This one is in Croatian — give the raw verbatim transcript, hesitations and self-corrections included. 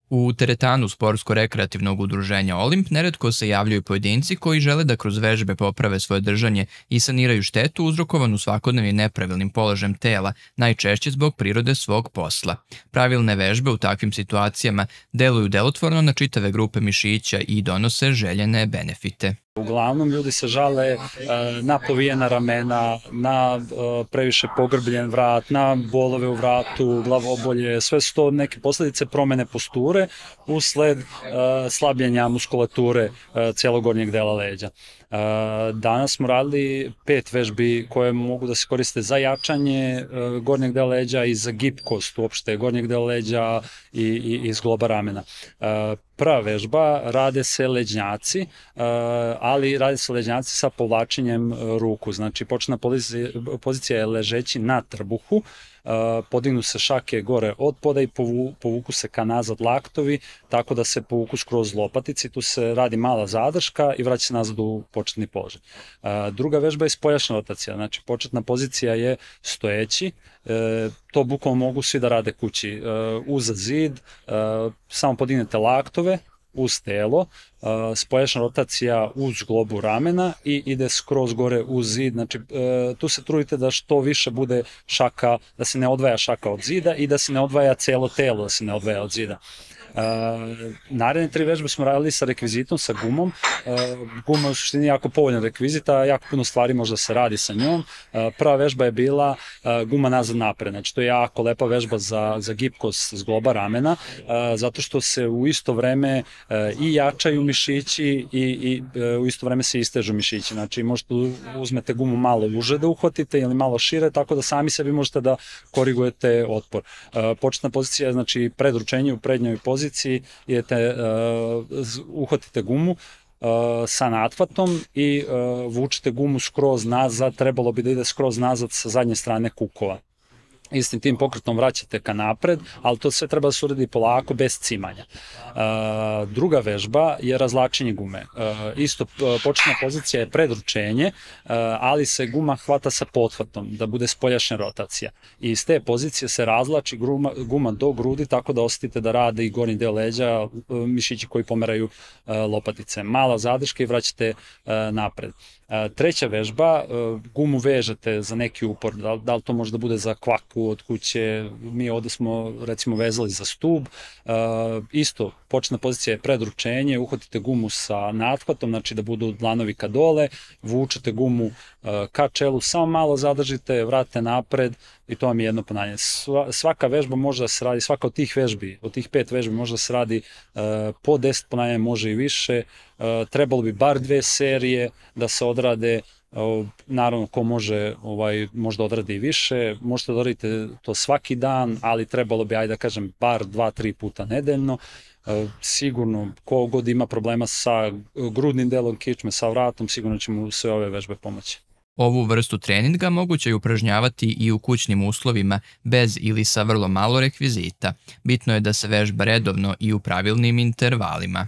U teretanu sportsko-rekreativnog udruženja Olimp neretko se javljaju pojedinci koji žele da kroz vežbe poprave svoje držanje i saniraju štetu uzrokovanu svakodnevnim nepravilnim položajem tela, najčešće zbog prirode svog posla. Pravilne vežbe u takvim situacijama deluju delotvorno na čitave grupe mišića i donose željene benefite. Uglavnom ljudi se žale na povijena ramena, na previše pogrbljen vrat, na bolove u vratu, glavobolje, sve su to neke posljedice promjene posture usled slabljenja muskulature cijelog gornjeg dela leđa. Danas smo radili pet vežbi koje mogu da se koriste za jačanje gornjeg dela leđa i za gibkost uopšte gornjeg dela leđa i, i, i zgloba ramena. Prva vežba, rade se leđnjaci, ali rade se leđnjaci sa povlačenjem ruku. Znači, početna pozicija, pozicija je ležeći na trbuhu, podignu se šake gore od poda i povuku se ka nazad laktovi, tako da se povuku skroz lopatici, tu se radi mala zadrška i vraća se nazad u početni položaj. Druga vežba je spoljašnja rotacija, znači početna pozicija je stojeći, to bukvalno mogu svi da rade kući, uz zid, samo podignete laktove, uz telo, spoljašnja rotacija uz globu ramena i ide skroz gore uz zid. Znači, tu se trudite da što više bude šaka, da se ne odvaja šaka od zida i da se ne odvaja celo telo, da se ne odvaja od zida. Uh, naredne tri vežbe smo radili sa rekvizitom, sa gumom. Uh, guma je u suštini jako povoljan rekvizit, a jako puno stvari možda se radi sa njom. Uh, prva vežba je bila uh, guma nazad napred, znači to je jako lepa vežba za, za gibkost zgloba ramena, uh, zato što se u isto vreme uh, i jačaju mišići i, i uh, u isto vreme se istežu mišići. Znači možete uzmete gumu malo uže da uhvatite ili malo šire, tako da sami sebi možete da korigujete otpor. Uh, početna pozicija je znači predručenje u prednjoj poziciji, idete, uh, uhvatite gumu uh, sa natvatom i uh, vučete gumu skroz nazad, trebalo bi da ide skroz nazad sa zadnje strane kukova. Istim tim pokretom vraćate ka napred, ali to sve treba da se uradi polako, bez cimanja. Uh, druga vežba je razlačenje gume. Uh, isto početna pozicija je predručenje, uh, ali se guma hvata sa pothvatom, da bude spoljašnja rotacija. I iz te pozicije se razlači guma, guma do grudi, tako da osetite da rade i gornji deo leđa, uh, mišići koji pomeraju uh, lopatice. Mala zadrška i vraćate uh, napred. Treća vežba, gumu vežete za neki upor, da, da li to može da bude za kvaku od kuće, mi ovde smo recimo vezali za stub, isto početna pozicija je predručenje, uhvatite gumu sa nathvatom, znači da budu dlanovi ka dole, vučete gumu ka čelu, samo malo zadržite, vratite napred i to vam je jedno ponavljanje. Svaka vežba može da se radi, svaka od tih vežbi, od tih pet vežbi može da se radi po deset ponavljanja, može i više, trebalo bi bar dve serije da se odrade. Naravno, ko može, ovaj, možda odradi i više, možete da odradite to svaki dan, ali trebalo bi, ajde da kažem, bar dva, tri puta nedeljno. Sigurno, ko god ima problema sa grudnim delom kičme, sa vratom, sigurno će mu sve ove vežbe pomoći. Ovu vrstu treninga moguće je upražnjavati i u kućnim uslovima, bez ili sa vrlo malo rekvizita. Bitno je da se vežba redovno i u pravilnim intervalima.